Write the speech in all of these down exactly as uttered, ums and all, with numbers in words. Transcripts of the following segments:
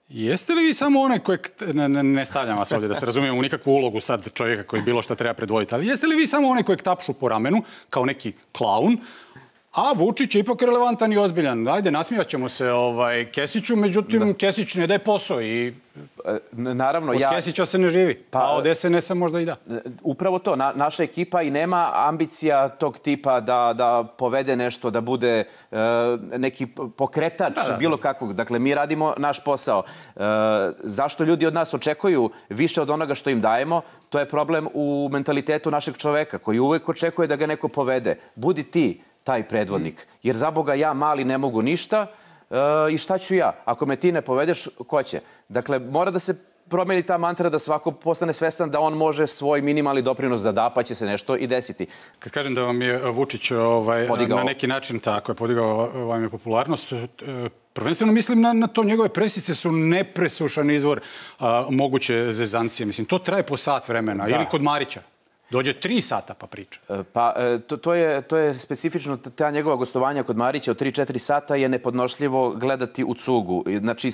Jeste li vi samo onaj kojeg, ne, ne stavljam vas ovdje da se razumijemo u nikakvu ulogu sad čovjeka koji bilo što treba predvoditi, ali jeste li vi samo onaj kojeg tapšu po ramenu kao neki klaun, a Vučić je ipak relevantan i ozbiljan. Ajde, nasmijat ćemo se ovaj, Kesiću, međutim, da. Kesić ne daje posao i naravno, od ja... Kesića se ne živi, pa, a od S N S-a možda i da. Upravo to, na, naša ekipa i nema ambicija tog tipa da, da povede nešto, da bude uh, neki pokretač, da, da. bilo kakvog. Dakle, mi radimo naš posao. Uh, zašto ljudi od nas očekuju više od onoga što im dajemo? To je problem u mentalitetu našeg čoveka, koji uvek očekuje da ga neko povede. Budi ti taj predvodnik. Jer za Boga ja mali ne mogu ništa uh, i šta ću ja? Ako me ti ne povedeš, ko će? Dakle, mora da se promeni ta mantra da svako postane svestan da on može svoj minimalni doprinos da da, pa će se nešto i desiti. Kad kažem da vam je Vučić ovaj, na neki način tako je podigao vam je popularnost, prvenstveno mislim na, na to njegove presice su nepresušan izvor a, moguće zezancije. Mislim, to traje po sat vremena. Da. Ili kod Marića. Dođe tri sata pa priča. Pa to, to, je, to je specifično, ta njegova gostovanja kod Marića od tri četiri sata je nepodnošljivo gledati u cugu. Znači,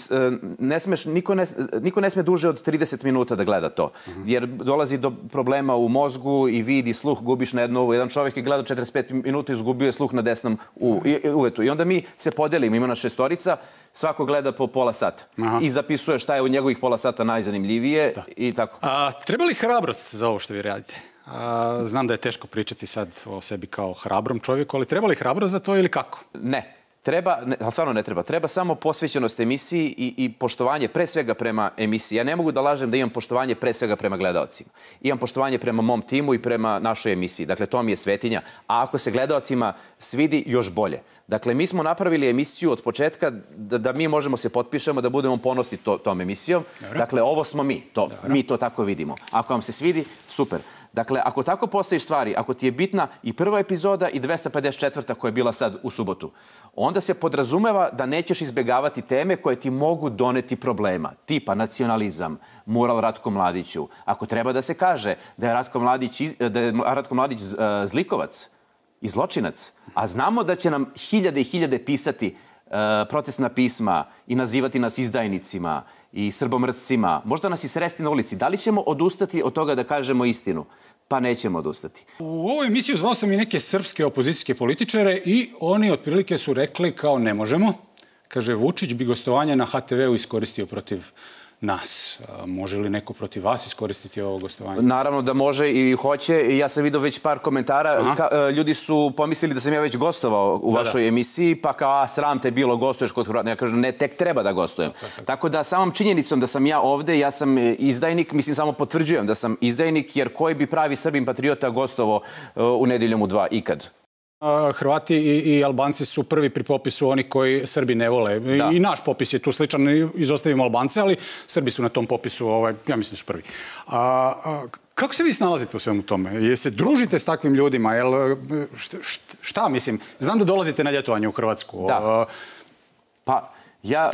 ne smeš, niko, ne, niko ne sme duže od trideset minuta da gleda to. Uh-huh. Jer dolazi do problema u mozgu i vid i sluh gubiš na jednu. Jedan čovjek je gledao četrdeset pet minuta i izgubio je sluh na desnom u, uvetu. I onda mi se podelimo, ima nas šestorica, svako gleda po pola sata. Aha. I zapisuje šta je u njegovih pola sata najzanimljivije da. I tako. A, treba li hrabrost za ovo što vi radite? A, znam da je teško pričati sad o sebi kao hrabrom čovjeku, ali treba li hrabrost za to ili kako? Ne. Treba, ne, ali stvarno ne treba, treba samo posvećenost emisiji i, i poštovanje pre svega prema emisiji. Ja ne mogu da lažem da imam poštovanje pre svega prema gledaocima. Imam poštovanje prema mom timu i prema našoj emisiji. Dakle, to mi je svetinja. A ako se gledaocima svidi, još bolje. Dakle, mi smo napravili emisiju od početka da, da mi možemo se potpišemo, da budemo ponosni to, tom emisijom. Dobre. Dakle, ovo smo mi. To, mi to tako vidimo. Ako vam se svidi, super. Dakle, ako tako postaviš stvari, ako ti je bitna i prva epizoda i dvesta pedeset četvrta koja je bila sad u subotu, onda se podrazumeva da nećeš izbjegavati teme koje ti mogu doneti problema. Tipa nacionalizam, mural Ratku Mladiću. Ako treba da se kaže da je Ratko Mladić, da je Ratko Mladić zlikovac i zločinac, a znamo da će nam hiljade i hiljade pisati uh, protestna pisma i nazivati nas izdajnicima i srbomrscima, možda nas i sresti na ulici. Da li ćemo odustati od toga da kažemo istinu? Pa nećemo odustati. U ovoj emisiji zvao sam i neke srpske opozicijske političare i oni otprilike su rekli kao ne možemo. Kaže, Vučić bi gostovanje na H T V-u iskoristio protiv nas. Može li neko protiv vas iskoristiti ovo gostovanje? Naravno da može i hoće. Ja sam vidio već par komentara. Ka, ljudi su pomislili da sam ja već gostovao u da, vašoj da. emisiji, pa kao, a sram te bilo, gostuješ kod Hrvata. Ja kažem, ne, tek treba da gostujem. Tako, tako. tako da samom činjenicom da sam ja ovde, ja sam izdajnik, mislim samo potvrđujem da sam izdajnik, jer koji bi pravi Srbin patriota gostovao u Nedeljom u dva ikad? Hrvati i, i Albanci su prvi pri popisu oni koji Srbi ne vole. Da. I naš popis je tu sličan, izostavimo Albance, ali Srbi su na tom popisu, ovaj, ja mislim su prvi. A, a, kako se vi snalazite u svemu tome? Je se družite s takvim ljudima? Jel, šta, šta mislim? Znam da dolazite na ljetovanje u Hrvatsku. Da. Pa, ja...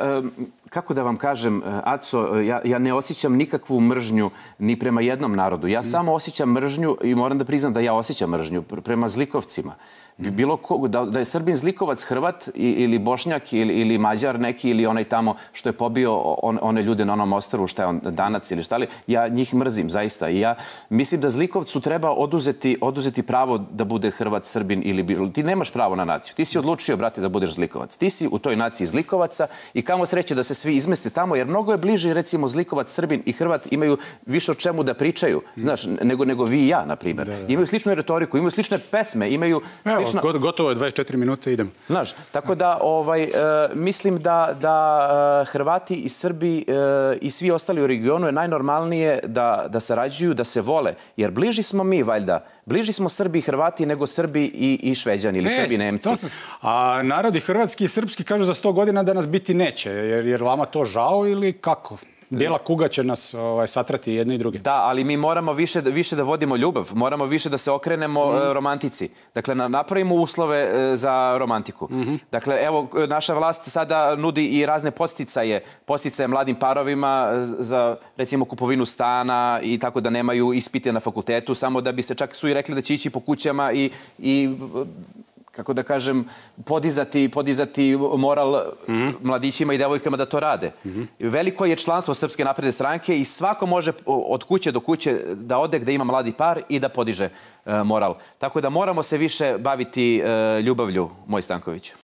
Kako da vam kažem, Aco, ja, ja ne osjećam nikakvu mržnju ni prema jednom narodu. Ja mm. samo osjećam mržnju i moram da priznam da ja osjećam mržnju prema zlikovcima. Bi bilo ko, da, da je Srbin zlikovac Hrvat ili Bošnjak ili, ili Mađar neki ili onaj tamo što je pobio on, one ljude na onom ostrvu, šta je on, Danac ili šta li, ja njih mrzim zaista. I ja mislim da zlikovcu treba oduzeti, oduzeti pravo da bude Hrvat, Srbin ili bilo. Ti nemaš pravo na naciju. Ti si odlučio, brate, da budeš zlikovac. Ti si u toj naciji zlikovaca i kamo sreće da se svi izmeste tamo, jer mnogo je bliže, recimo, zlikovac, Srbin i Hrvat imaju više o čemu da pričaju, znaš, nego, nego vi i ja, na primjer. Da, da. Imaju sličnu retoriku, imaju slične pesme, imaju slična... Evo, gotovo je dvadeset četiri minute, idem. Znaš, tako da, ovaj, uh, mislim da, da uh, Hrvati i Srbi uh, i svi ostali u regionu je najnormalnije da, da sarađuju, da se vole, jer bliži smo mi, valjda, bliži smo Srbi i Hrvati nego Srbi i, i Šveđani ili e, Srbi i Nemci. Sam... A narodi hrvatski i srpski kažu za sto godina da nas biti neće, jer, jer vama to žao ili kako? Bijela kuga će nas ovaj, satrati jedne i druge. Da, ali mi moramo više, više da vodimo ljubav. Moramo više da se okrenemo mm. romantici. Dakle, napravimo uslove za romantiku. Mm-hmm. Dakle, evo, naša vlast sada nudi i razne posticaje. Posticaje mladim parovima za, recimo, kupovinu stana i tako da nemaju ispite na fakultetu, samo da bi se čak su i rekli da će ići po kućama i... i kako da kažem, podizati, podizati moral mm-hmm. mladićima i devojkama da to rade. Mm-hmm. Veliko je članstvo Srpske napredne stranke i svako može od kuće do kuće da ode gde ima mladi par i da podiže uh, moral. Tako da moramo se više baviti uh, ljubavlju, moj Stanković.